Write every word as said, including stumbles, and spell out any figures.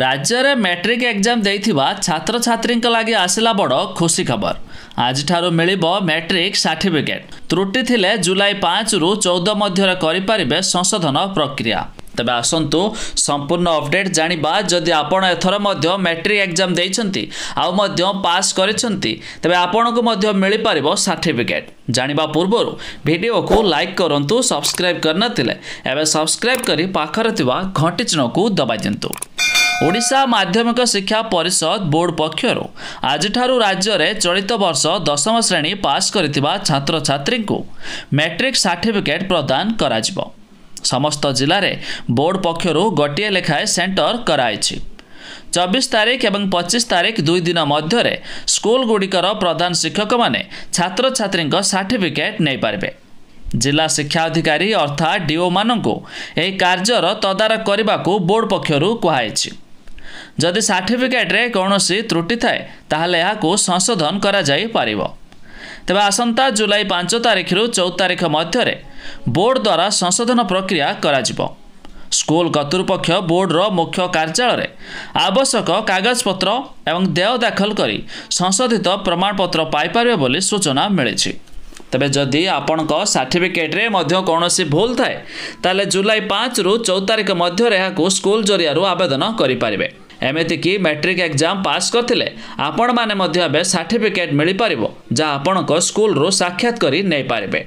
ରାଜ୍ୟରେ matric exam ଦେଇଥିବା ଛାତ୍ରଛାତ୍ରୀଙ୍କ ଲାଗି ଆସିଲା ବଡ଼ ଖୁସି ଖବର। ଆଜିଠାରୁ ମିଳିବ ମେଟ୍ରିକ୍ ସାର୍ଟିଫିକେଟ୍। ତ୍ରୁଟି ଥିଲେ ଜୁଲାଇ ପାଞ୍ଚରୁ ଚଉଦ ମଧ୍ୟରେ କରିପାରିବେ ସଂଶୋଧନ ପ୍ରକ୍ରିୟା। ତେବେ ଆସନ୍ତୁ ସମ୍ପୂର୍ଣ୍ଣ ଅପଡେଟ୍ ଜାଣିବା। ଯଦି ଆପଣ ଏଥର ମଧ୍ୟ ମେଟ୍ରିକ୍ ଏକ୍ଜାମ୍ ଦେଇଛନ୍ତି ଆଉ ମଧ୍ୟ ପାସ୍ କରିଛନ୍ତି, ତେବେ ଆପଣଙ୍କୁ ମଧ୍ୟ ମିଳିପାରିବ ସାର୍ଟିଫିକେଟ୍। ଜାଣିବା ପୂର୍ବରୁ ଭିଡ଼ିଓକୁ ଲାଇକ୍ କରନ୍ତୁ। ସବସ୍କ୍ରାଇବ୍ କରିନଥିଲେ ଏବେ ସବସ୍କ୍ରାଇବ୍ କରି ପାଖରେ ଥିବା ଘଣ୍ଟି ଚିହ୍ନକୁ ଦବାଇ ଦିଅନ୍ତୁ। ଓଡ଼ିଶା ମାଧ୍ୟମିକ ଶିକ୍ଷା ପରିଷଦ ବୋର୍ଡ ପକ୍ଷରୁ ଆଜିଠାରୁ ରାଜ୍ୟରେ ଚଳିତ ବର୍ଷ ଦଶମ ଶ୍ରେଣୀ ପାସ୍ କରିଥିବା ଛାତ୍ରଛାତ୍ରୀଙ୍କୁ ମେଟ୍ରିକ୍ ସାର୍ଟିଫିକେଟ୍ ପ୍ରଦାନ କରାଯିବ। ସମସ୍ତ ଜିଲ୍ଲାରେ ବୋର୍ଡ ପକ୍ଷରୁ ଗୋଟିଏ ଲେଖାଏଁ ସେଣ୍ଟର କରାଯାଇଛି। ଚବିଶ ତାରିଖ ଏବଂ ପଚିଶ ତାରିଖ ଦୁଇ ଦିନ ମଧ୍ୟରେ ସ୍କୁଲଗୁଡ଼ିକର ପ୍ରଧାନ ଶିକ୍ଷକମାନେ ଛାତ୍ରଛାତ୍ରୀଙ୍କ ସାର୍ଟିଫିକେଟ୍ ନେଇପାରିବେ। ଜିଲ୍ଲା ଶିକ୍ଷା ଅଧିକାରୀ ଅର୍ଥାତ୍ ଡିଓମାନଙ୍କୁ ଏହି କାର୍ଯ୍ୟର ତଦାରଖ କରିବାକୁ ବୋର୍ଡ ପକ୍ଷରୁ କୁହାଯାଇଛି। ଯଦି ସାର୍ଟିଫିକେଟ୍ରେ କୌଣସି ତ୍ରୁଟି ଥାଏ, ତାହେଲେ ଏହାକୁ ସଂଶୋଧନ କରାଯାଇପାରିବ। ତେବେ ଆସନ୍ତା ଜୁଲାଇ ପାଞ୍ଚ ତାରିଖରୁ ଚଉଦ ତାରିଖ ମଧ୍ୟରେ ବୋର୍ଡ ଦ୍ୱାରା ସଂଶୋଧନ ପ୍ରକ୍ରିୟା କରାଯିବ। ସ୍କୁଲ କର୍ତ୍ତୃପକ୍ଷ ବୋର୍ଡର ମୁଖ୍ୟ କାର୍ଯ୍ୟାଳୟରେ ଆବଶ୍ୟକ କାଗଜପତ୍ର ଏବଂ ଦେୟ ଦାଖଲ କରି ସଂଶୋଧିତ ପ୍ରମାଣପତ୍ର ପାଇପାରିବେ ବୋଲି ସୂଚନା ମିଳିଛି। ତେବେ ଯଦି ଆପଣଙ୍କ ସାର୍ଟିଫିକେଟ୍ରେ ମଧ୍ୟ କୌଣସି ଭୁଲ ଥାଏ, ତାହେଲେ ଜୁଲାଇ ପାଞ୍ଚରୁ ଚଉଦ ତାରିଖ ମଧ୍ୟରେ ଏହାକୁ ସ୍କୁଲ ଜରିଆରୁ ଆବେଦନ କରିପାରିବେ। ଏମିତିକି ମେଟ୍ରିକ୍ ଏକ୍ଜାମ୍ ପାସ୍ କରିଥିଲେ ଆପଣମାନେ ମଧ୍ୟ ଏବେ ସାର୍ଟିଫିକେଟ୍ ମିଳିପାରିବ, ଯାହା ଆପଣଙ୍କ ସ୍କୁଲରୁ ସାକ୍ଷାତ କରି ନେଇପାରିବେ।